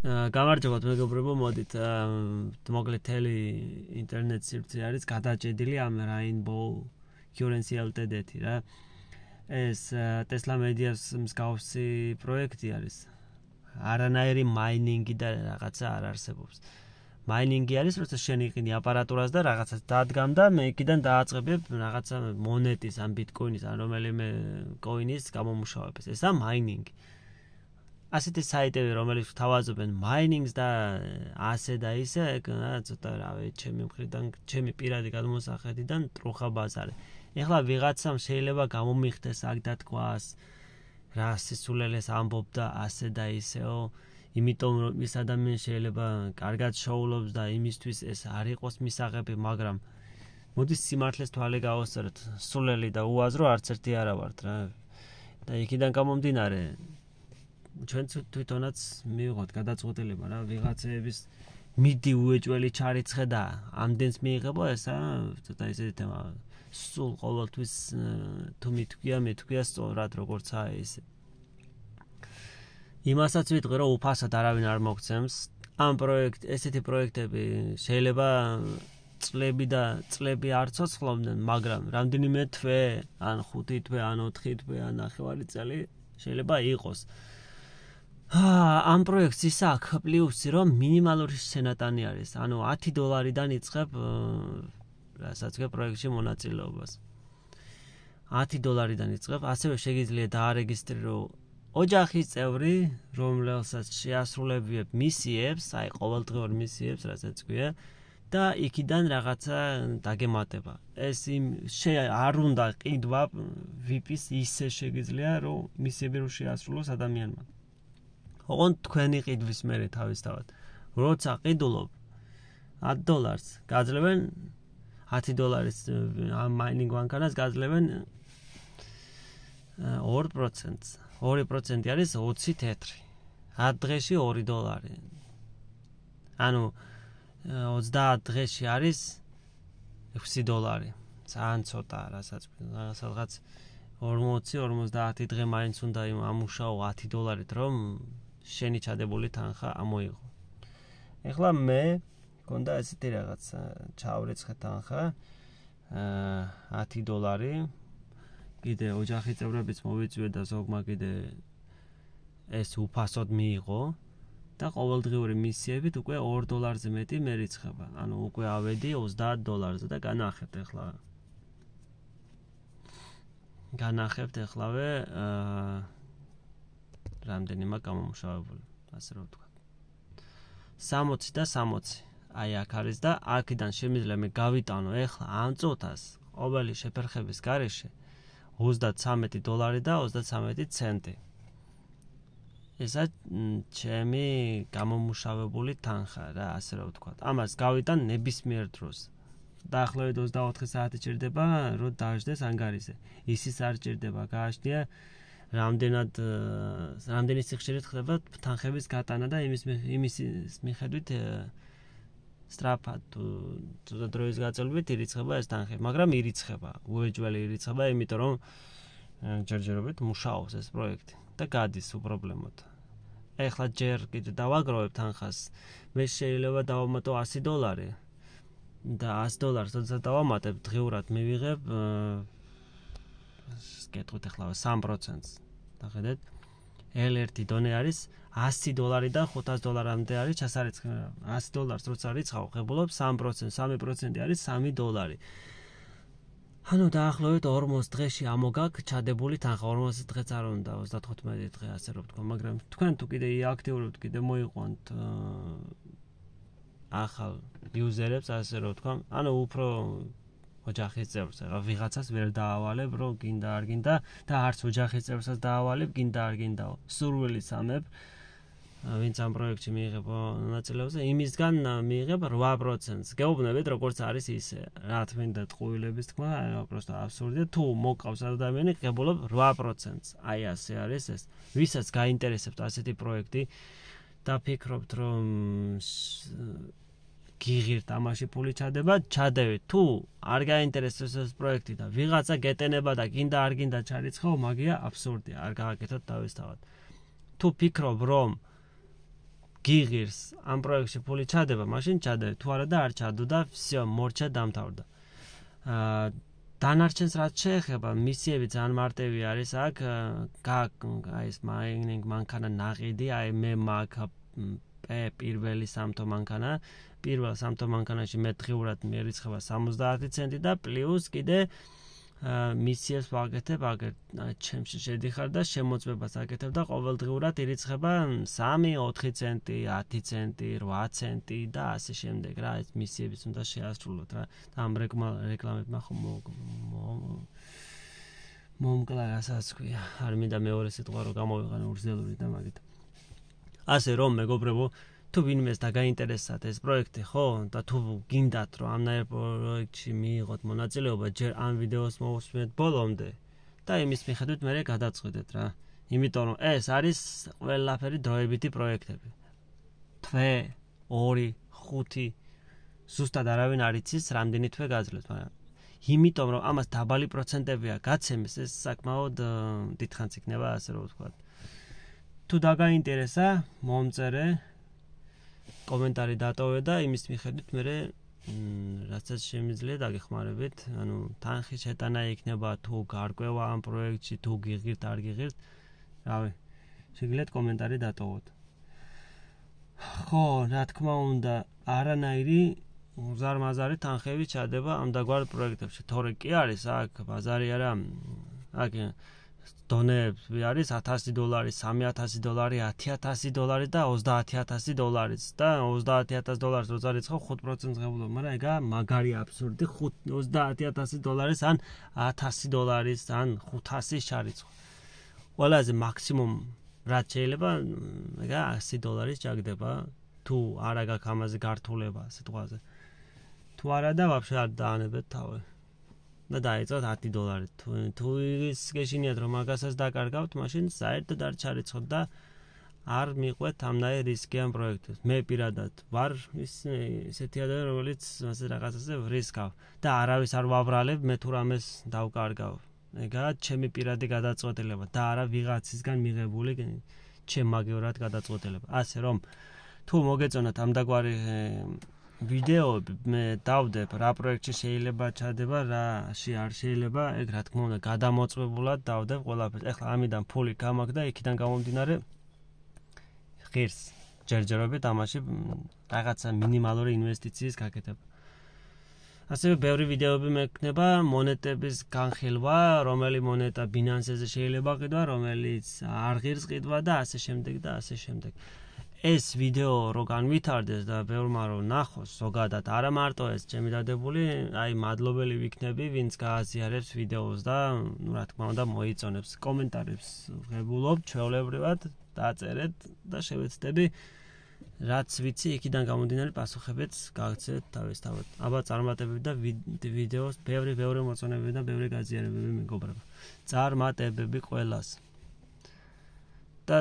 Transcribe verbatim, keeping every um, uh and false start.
გამარჯობათ მეგობრებო, მოდით მოკლედ თელი ინტერნეტ სივრცე არის გადაჭედილი ამ Rainbow Currency Ltd-ი რა. ეს Tesla Medias მსგავსი პროექტი არის. არანაირი მაინინგი და რაღაცა არ არსებობს. მაინინგი არის, როცა შენ იყიდი აპარატურას და რაღაცას დადგამ და მე იქიდან დააწყებებ რაღაცა მონეტის ან ბიტკოინის ან რომელიმე კოინის გამომუშავებას. ესა მაინინგი. ასეთი საიტები, რომელიც თავაზობენ მაინინგს და ასე და ისე, ცოტა რავი, ჩემი მხრიდან, ჩემი პირადი გადმოსახედიდან ტრუხა ბაზარი. ეხლა ვიღაცამ შეიძლება გამომიხდეს აქ და თქვას, რა სისულელეს ამბობ და ასე და ისეო, იმიტომ რომ ის ადამიანი შეიძლება კარგად შოულობს და იმისთვის ეს არ იყოს მისაღები, მაგრამ მოდის სიმართლეს თვალე გავასწოროთ, სულელი და უაზრო არც ერთი არა ვართ რა. და იქიდან გამომდინარე ჩვენ თვითონაც მივიღოთ გადაწყვეტილება რა ვიღაცების მიდი უეჭველი ჩარიცხე და ამდენს მიიღებო ესა ცოტა ისეთი თემა სულ ყოველთვის თუ მithქვია მithქვია სწორად როგორცაა ესე იმასაც ვიტყვი რომ უფასად არავინ არ მოგცემს ამ პროექტ ესეთი პროექტები შეიძლება წლები და წლები არ ცოცხლობდნენ მაგრამ რამდენიმე თვე ან ხუთი თვე ან ოთხი თვე ან ნახევარი წელი შეიძლება იყოს ამ პროექტს ის აქვს პლუსი რომ მინიმალური სენატანი არის ანუ ათი დოლარიდან იწყებ რასაც გე პროექტში მონაწილეობას ათი დოლარიდან იწყებ ასევე შეგიძლია დაარეგისტრირო ოჯახის წევრი რომელსაც შეასრულებიებ მისიებს აი ყოველდღიურ მისიებს რასაც გვია და იქიდან რაღაცა დაგემატება ეს იმ არ უნდა ყიდვა ვი პის ისე შეგიძლია რომ მისიები რო შეასრულოს ადამიანმა ოღონდ თქვენი ყიდვის მერე თავისთავად როცა ყიდულობ ათი დოლარს გაძლევენ ათი დოლარის ამ მაინინგ ვანქანას გაძლევენ ორი პროცენტს ორი პროცენტი არის ოცი თეთრი ათ დღეში ორი დოლარი ანუ ოცდაათ დღეში არის ექვსი დოლარი ძალიან ცოტა რასაც სადღაც ორმოცი ორმოცდაათი დღე მაინც უნდა ამუშაო ათი დოლარით რომ შენი ჩადებული თანხა ამოიღო. ეხლა მე მქონდა ესეთი რაღაც ჩავრეცხე თანხა ათი დოლარი კიდე ოჯახის წევრებიც მოვიწვია და ზოგმა კიდე ეს უფასოდ მიიღო და ყოველდღიური მისიებით უკვე ორ დოლარზე მეტი მე რიცხება. ანუ უკვე ავედი ოცდაათ დოლარზე და განახებთ ეხლა. განახებთ ეხლავე რამდენი მაქვს გამომუშავებული, ასე რომ ვთქვა. სამოცი და სამოცი. აი აქ არის და აქედან შემიძლია მე გავიტანო ეხლა ამ წუთას ყოველი შეფერხების გარეშე ოცდათრამეტი დოლარი და ოცდათრამეტი ცენტი. ესა ჩემი გამომუშავებული თანხა რა, ასე რომ ვთქვა. ამას გავიტან ნებისმიერ დროს. დაახლოებით ოცდაოთხი საათი ჭირდება, რომ დაждდეს ანგარიზე. ისიც არ ჭირდება, გააჩნია რამდენად რამდენი სიხშირით ხდება თანხების გატანა და იმის იმის მიხედვით სწრაფად თუ დროის გაწელვით ირიცხება ეს თანხი, მაგრამ ირიცხება, უეჭველი ირიცხება, იმიტომ რომ ჯერჯერობით მუშაობს ეს პროექტი და გადის უპრობლემოდ. ეხლა ჯერ კიდე დავაგროვებ თანხას, მე შეიძლება დავამატო ასი დოლარი და ასი დოლარს როცა დავამატებ დღიურად მივიღებ გეტყვით ეხლა სამი პროცენტს. დახედეთ. ელ ერთი დონე არის ასი დოლარი და ხუთას დოლარამდე არის ჩასარიცხი. ასი დოლარს როცა რიცხავ, ღებულობ სამი პროცენტი, სამი პროცენტი არის სამი დოლარი. ანუ დაახლოებით ორმოცი დღეში ამოგაკ ჩადებული თანხა, ორმოცი დღეც არ უნდა, ოცდათხუთმეტი დღე ასე რომ ვთქვა, მაგრამ თქვენ თუ კიდე იაქტიურებთ, კიდე მოიყვანთ ახალ იუზერებს, ასე რომ ვთქვა, ანუ უფრო ოჯახის წევრს, რა ვიღაცას ვერ დაავალებ, რომ გინდა არ გინდა და არც ოჯახის წევრსაც დაავალებ, გინდა არ გინდაო. სურვილის ამებ, ვინც ამ პროექტში მიიღებ მონაწილეობაზე, იმისგან მიიღებ რვა პროცენტს. გეუბნებით, როგორც არის ისე. რა თქმა ტყუილების თქმა, просто აბსურდია. თუ მოკავს ადამიანი, გებულობ რვა პროცენტს. აი ასე არის ეს. ვისაც გაინტერესებთ ასეთი პროექტი და ფიქრობთ, რომ გიღირთ ამაში ფული ჩადება, ჩადევით. თუ არ გაინტერესებს ეს პროექტი და ვიღაცა გეტენება და გინდა არ გინდა ჩარიცხო, მაგია აბსურდია, არ გააკეთოთ თავისთავად. თუ ფიქრობ, რომ გიღირს ამ პროექტში ფული ჩადება, მაშინ ჩადე, თუ არა და არ ჩადო და всё, მორჩა დამთავრდა. აა დანარჩენს რაც შეეხება, მისიები ძალიან მარტივი არის აქ, აი ეს მაინინგ მანქანა ნაყიდი, აი მე მაქვს პირველი სამთო მანქანა, პირველ სამთო მანქანაში მე დღიურად მიერიცხება სამოცდაათი ცენტი და პლუს კიდე მისიებს ვაკეთებ, აგერ ჩემში შედიხარ და შემოწმებას აკეთებ და ყოველდღიურად ირიცხება სამი, ოთხი ცენტი, ათი ცენტი, რვა ცენტი და ასე შემდეგ რა, ეს მისიებიც უნდა შეასრულოთ რა. და ამ რეკლამებმა ხომ მომკლა რასაც ქვია. არ მინდა მეორე სიტყვა რომ გამოვიყენო ურზელური და მაგით. ასე რომ მეგობრებო, თუ ვინმეს დაგაინტერესათ ეს პროექტი, ხო? და თუ გინდათ რომ ამნაირ პროექტში მიიღოთ მონაწილეობა, ჯერ ამ ვიდეოს მოусმენთ ბოლომდე და იმის მიხედვით მე გადაწყვეტეთ რა. იმიტომ რომ ეს არის ყველაფერი დროებითი პროექტები. თვე, ორი, ხუთი ზუსტად არავინ არ იცის რამდენი თვე გაძლევს, მაგრამ იმიტომ რომ ამას დაბალი პროცენტებია გაცემის, ეს საკმაოდ დიდხანს იქნება, ასე რომ ვთქვათ. თუ დაგაინტერესა, მომწერე კომენტარი დატოვე და იმის მიხედვით მე რასაც შემიძლია დაგეხმარებით, ანუ თანხი შეტანა იქნება თუ გარკვევა ამ პროექტში, თუ გიღირთ, არ გიღირთ, რავი, შეგიძლიათ კომენტარი დატოვოთ. ხო, რა თქმა უნდა, არანაირი უზარმაზარი თანხები ჩადება ამ დაგვარ პროექტებში. თორე კი არის აქ ბაზარი არა, აქ დონეები არის ათასი დოლარი, სამი ათასი დოლარი, ათი ათასი დოლარი და ოცდაათი ათასი დოლარიც და ოცდაათი ათასი დოლარს რო წარიცხავ ხუთ პროცენტს ღებულობ, მაგრამ ეგა მაგარი აბსურდი, ოცდაათი ათასი დოლარის ან ათასი დოლარის ან ხუთასი შარიცხვა. ყველაზე მაქსიმუმ რაც შეიძლება ეგა ასი დოლარის ჩაგდება, თუ არა გაქვს ამაზე გართულება სიტყვაზე. თუ არა და ვაფშე არ დაანებეთ თავი. და დაიწყოთ ათი დოლარი. თუ ის გეშინიათ რომ მაგასაც დაკარგავთ, მაშინ საერთოდ არ ჩარიცხოთ და არ მიყვეთ ამნაირ რისკიან პროექტებს. მე პირადად ვარ ისეთი ადამიანი, რომელიც მასე რაღაცაზე ვრისკავ და არავის არ ვაბრალებ, მე თუ რამეს დავკარგავ. ეგაა ჩემი პირადი გადაწყვეტილება და არა ვიღაცისგან მიღებული ჩემ მაგივრად გადაწყვეტილება. ასე რომ თუ მოგეწონათ ამ დაგვარი ვიდეოები, მე დავდებ რა პროექტში შეიძლება ჩადება, რაში არ შეიძლება, ეგ რა თქმა უნდა გადამოწმებულად დავდებ ყველაფერს. ეხლა ამიდან ფული გამაქვს და იქიდან გამომდინარე ღირს ჯერჯერობით ამაში რაღაცა მინიმალური ინვესტიციის გაკეთება. ასევე ბევრი ვიდეოები მექნება მონეტების განხილვა, რომელი მონეტა Binance-ზე შეიძლება ყიდვა, რომელიც არ ღირს ყიდვა და ასე შემდეგ და ასე შემდეგ. ეს ვიდეო რო განვითარდეს და ბევრმა რო ნახოს, ზოგადად არა მარტო ეს ჩემი დადებული, აი მადლობელი ვიქნები, ვინც გააზიარებს ვიდეოს და ნუ რა თქმა უნდა მოიწონებს კომენტარებს ვღებულობ ჩვეულებრივად, დაწერეთ და შევეცდები რაც ვიცი იქიდან გამომდინარე პასუხებიც გაგცეთ თავისთავად. აბა წარმატებები და ვიდეოს ბევრი ბევრი მოწონებები და ბევრი გაზიარებები მეგობრებო. წარმატებები ყველას. და